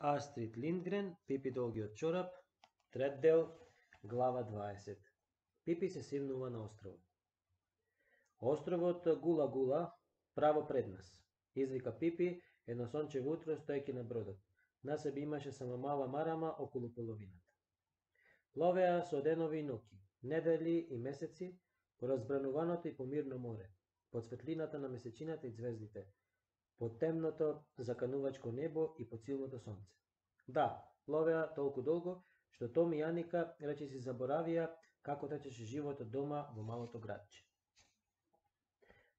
Астрид Линдгрен, Пипи долгиот чорап, трет дел, глава 20. Пипи се симнува на островот. Островот Гула Гула, право пред нас, извика Пипи едно сончево утро стоејќи на бродот. На себе имаше само мала марама околу половината. Пловеа со денови и ноќи, недели и месеци, по разбрануваното и помирно море, под светлината на месечината и звездите, под темното заканувачко небо и под силното сонце. Да, пловеа толку долго, што Том и Јаника речиси заборавија како течеше животот дома во малото градче.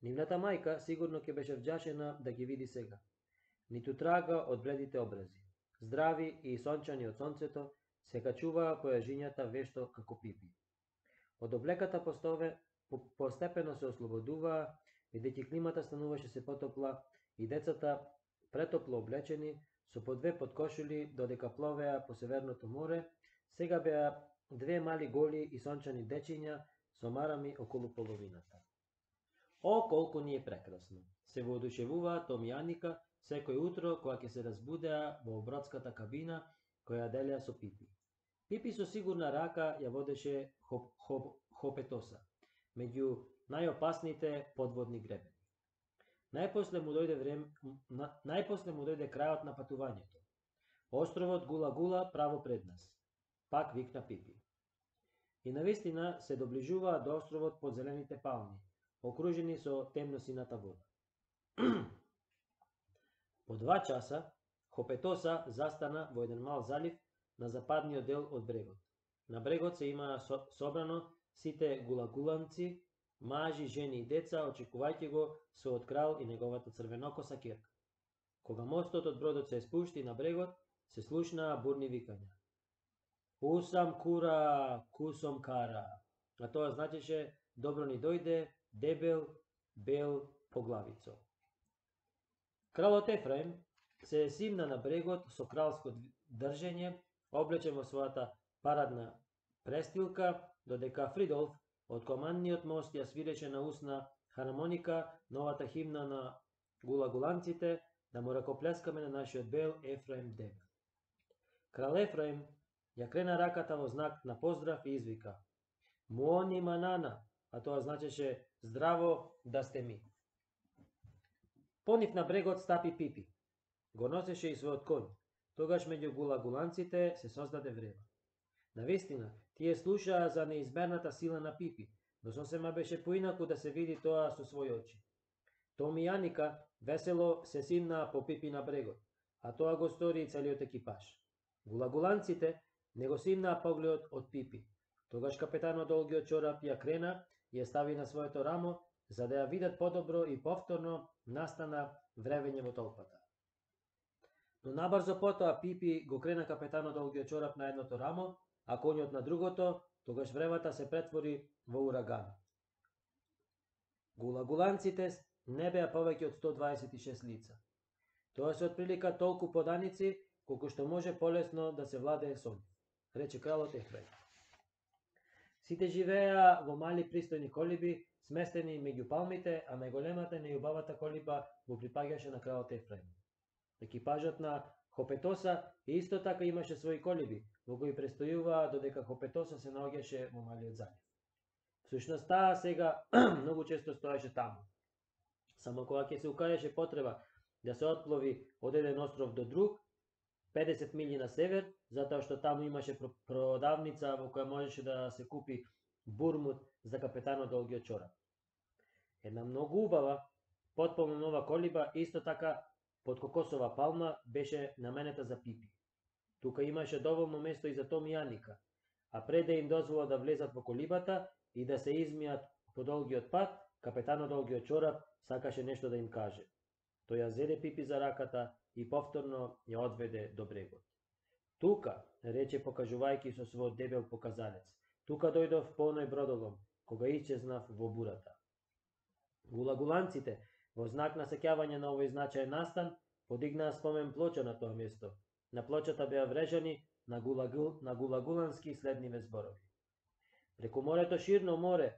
Нивната мајка сигурно ќе беше вџашена да ги види сега. Ниту трага од бледите образи. Здрави и сончани од сонцето, се качуваа појажињата вешто како Пипи. Од облеката постепено се ослободуваа, бидејќи климата стануваше се потопла и децата, претопло облечени, со по две подкошули додека пловеа по Северното море, сега беа две мали голи и сончани дечиња со марами околу половината. О, колку ни е прекрасно! Се воодушевуваа Том и Јаника секој утро кога ќе се разбудеа во бродската кабина која делеа со Пипи. Пипи со сигурна рака ја водеше Хопетоса, меѓу најопасните подводни гребени. Најпосле му дојде крајот на патувањето. Островот Гула Гула право пред нас, пак викна Пипи. И навистина се доближуваа до островот под зелените палми, окружени со темносината вода. По 2 часа Хопетоса застана во еден мал залив на западниот дел од брегот. На брегот се имаа собрано сите гулагуланци, мажи, жени и деца, очекувајќи го својот крал и неговата црвенокоса ќерка. Кога мостот од бродот се спушти на брегот, се слушнаа бурни викања. Усам кура, кусом кара. А тоа значеше добро ни дојде, дебел, бел поглавицо. Кралот Ефраим се симна на брегот со кралско држење, облечен во својата парадна престилка, додека Фридолф од командниот мост ја свиреше на усна хармоника новата химна на гулагуланците, да му ракоплескаме на нашиот бел Ефраим дебел. Крал Ефраим ја крена раката во знак на поздрав и извика: Муони манана, а тоа значеше здраво да сте ми. По нив на брегот стапи Пипи. Го носеше и својот конј. Тогаш меѓу гулагуланците се создаде врева. Навистина, тие слушаа за неизмерната сила на Пипи, но сосема беше поинаку да се види тоа со своји очи. Том и Јаника весело се симнаа по Пипи на брегот, а тоа го стори и целиот екипаж. Гулагуланците не го симнаа погледот од Пипи. Тогаш капетанот долгиот чорап ја крена и ја стави на своето рамо, за да ја видат подобро и повторно настана вревење во толпата. Но набрзо потоа Пипи го крена капетанот долгиот чорап на едното рамо, а конјот на другото, тогаш вревата се претвори во ураган. Гулагуланците не беа повеќе од 126 лица. Тоа се отприлика толку поданици, колку што може полесно да се владее со нив, рече кралот Ефраим. Сите живееа во мали пристојни колиби, сместени меѓу палмите, а најголемата и најубавата колиба го припаѓаше на кралот Ефраим. Екипажот на Хопетоса исто така имаше своји колиби, во кои престојуваа додека Хопетоса се наоѓаше во малиот залив. Всушност таа сега многу често стоеше таму. Само кога ќе се укажеше потреба да се отплови од еден остров до друг, 50 милји на север, затоа што таму имаше продавница во која можеше да се купи бурмут за капетанот долгиот чорап. Една многу убава, потполно нова колиба, исто така под кокосова палма, беше наменета за Пипи. Тука имаше доволно место и за Том и Јаника, а пред да им дозвола да влезат во колибата и да се измијат по долгиот пат, капетанот долгиот чорап сакаше нешто да им каже. Тој ја зеде Пипи за раката и повторно ја одведе до брегот. Тука, рече покажувајќи со својот дебел показалец, тука дојдов по оној бродолом, кога исчезнав во бурата. Гулагуланците, во знак на сеќавање на овој значаен настан, подигнаа спомен плоча на тоа место. На плочата беа врежани на гулагулански следниве зборови. Преку морето ширно море,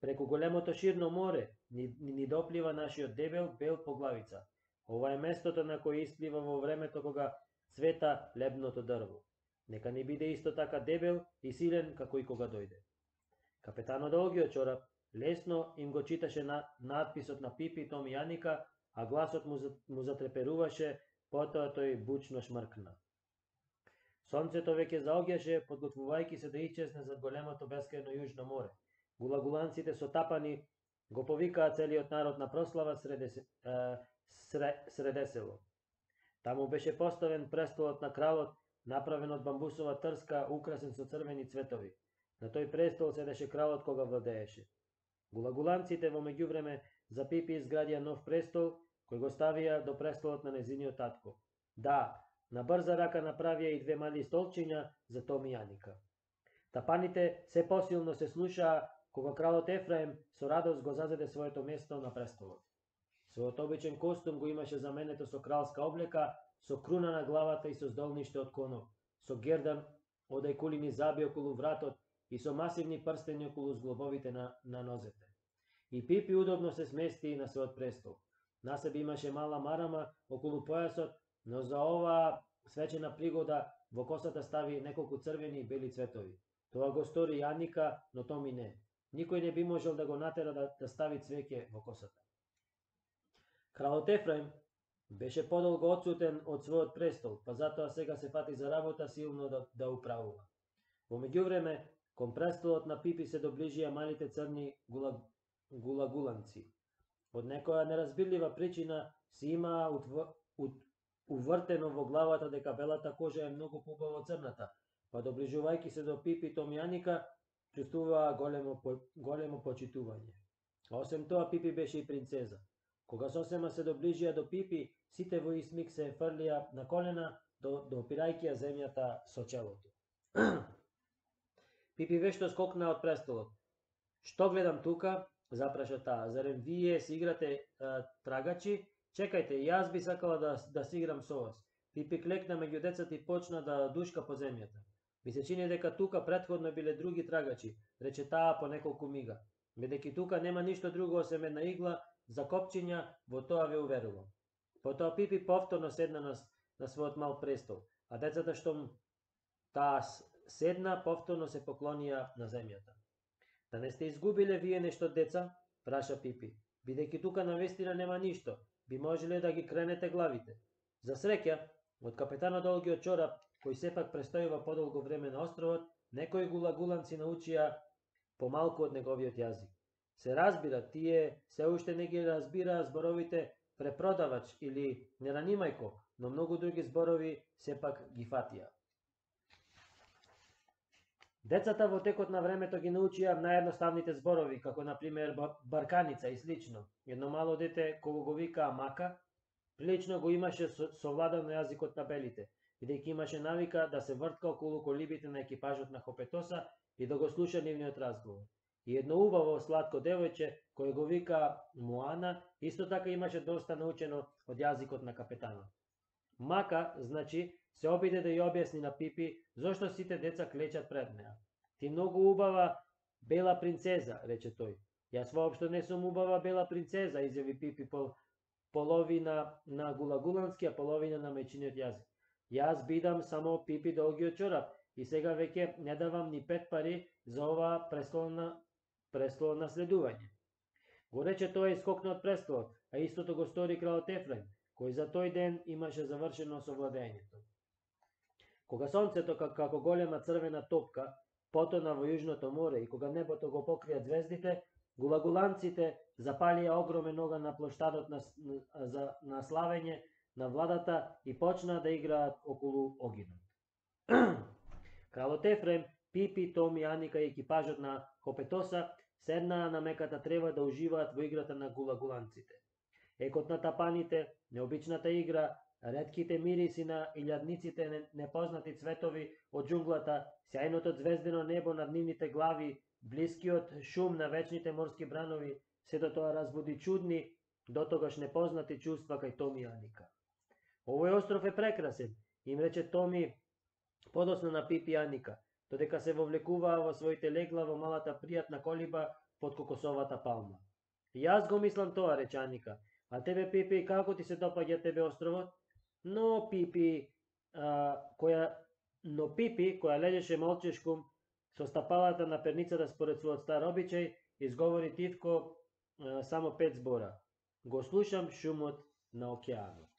преку големото ширно море, ни доплива нашиот дебел бел поглавица. Ова е местото на кој исплива во времето кога цвета лебното дрво. Нека ни биде исто така дебел и силен како и кога дојде. Капетанот Долгиот чорап лесно им го читаше надписот на Пипи, Том и Јаника, а гласот му затреперуваше, потоа тој бучно шмркна. Сонцето веќе заоѓаше, подготвувајќи се да исчезне зад големото бескрајно јужно море. Гулагуланците со тапани го повикаа целиот народ на прослава среде село. Таму беше поставен престолот на кралот, направен од бамбусова трска, украсен со црвени цветови. На тој престол седеше кралот кога владееше. Гулагуланците во меѓувреме за Пипи изградија нов престол, кој го ставија до престолот на незиниот татко. Да, на брза рака направија и две мали столчиња за Том и Јаника. Тапаните се посилно се слушаа кога кралот Ефраим со радост го зазеде своето место на престолот. Својот обичен костум го имаше заменето со кралска облека, со круна на главата и со здолниште од конов, со гердан од ајкулини заби околу вратот и со масивни прстени околу зглобовите на нозете. И Пипи удобно се смести на својот престол. На себе имаше мала марама околу појасот, но за оваа свечена пригода во косата стави неколку црвени и бели цветови. Тоа го стори Јаника, но Томи не. Никој не би можел да го натера да стави цвеќе во косата. Кралот Ефраим беше подолго отсутен од својот престол, па затоа сега се фати за работа силно да управува. Во меѓувреме, кон престолот на Пипи се доближија малите црни гулагуланци. Од некоја неразбирлива причина си имаа увртено во главата дека белата кожа е многу побава од црната, па доближувајќи се до Пипи, Том и Јаника, чувствуваа големо почитување. Осем тоа, Пипи беше и принцеза. Кога сосема се доближија до Пипи, сите во ист миг се фрлија на колена, допирајќи ја земјата со челото. Пипи вешто скокна од престолот. Што гледам тука? Запраша таа. Зарем вие си играте трагачи? Чекајте, јас би сакала да си играм со вас. Пипи клекна меѓу децата и почна да душка по земјата. Ми се чини дека тука претходно биле други трагачи, рече таа по неколку мига. Бидејќи тука нема ништо друго осем една игла за копчиња, во тоа ве уверувам. Потоа Пипи повторно седна на својот мал престол, а децата што таа седна повторно се поклонија на земјата. Да не сте изгубиле вие нешто, деца? Праша Пипи. Бидејќи тука навистина нема ништо, би можеле да ги кренете главите. За среќа, од капетанот Долгиот чорап, кој сепак престојува подолго време на островот, некои гулагуланци научија помалку од неговиот јазик. Се разбира, тие се уште не ги разбираа зборовите препродавач или не ранимајко, но многу други зборови сепак ги фатија. Децата во текот на времето ги научија наједноставните зборови, како например барканица и слично. Едно мало дете кога го викаа мака, прилично го имаше совладано јазикот на белите, бидејќи имаше навика да се вртка околу колибите на екипажот на Хопетоса и да го слуша нивниот разговор. И едно убаво сладко девојче, кој го вика Моана, исто така имаше доста научено од јазикот на капетанот. Мака, значи, се обиде да ја објасни на Пипи зошто сите деца клечат пред неа. Ти многу убава бела принцеза, рече тој. Јас воопшто не сум убава бела принцеза, изјави Пипи половина на гулагулански, а половина на мајчиниот јазик. Јас бидам само Пипи Долгиот чорап и сега веќе не давам ни 5 пари за ова престолно наследување. Го рече тоа и скокна од престолот, а истото го стори кралот Ефраим, кој за тој ден имаше завршено со владењето. Кога сонцето како голема црвена топка потона во јужното море и кога небото го покрија звездите, гулагуланците запалија огромен оган на плоштадот на славење на владата и почнаа да играат околу огинот. Кралот Ефраим, Пипи, Том и Јаника и екипажот на Хопетоса седнаа на меката трева да уживаат во играта на гулагуланците. Екот на тапаните, необичната игра, ретките мириси на илјадниците непознати цветови од џунглата, сјајното звездено небо над нивните глави, блискиот шум на вечните морски бранови, сето тоа разбуди чудни, дотогаш непознати чувства кај Томи и Јаника. Овој остров е прекрасен, им рече Томи подоцна на Пипи и Јаника, додека се вовлекуваа во своите легла во малата пријатна колиба под кокосовата палма. Јас го мислам тоа, рече Јаника. А тебе, Пипи, како ти се допаѓа тебе островот? Но, Пипи, која но Пипи, која лежеше молчешкум со стапалата на перницата според својот стар обичај, изговори тивко само 5 збора. Го слушам шумот на океанот.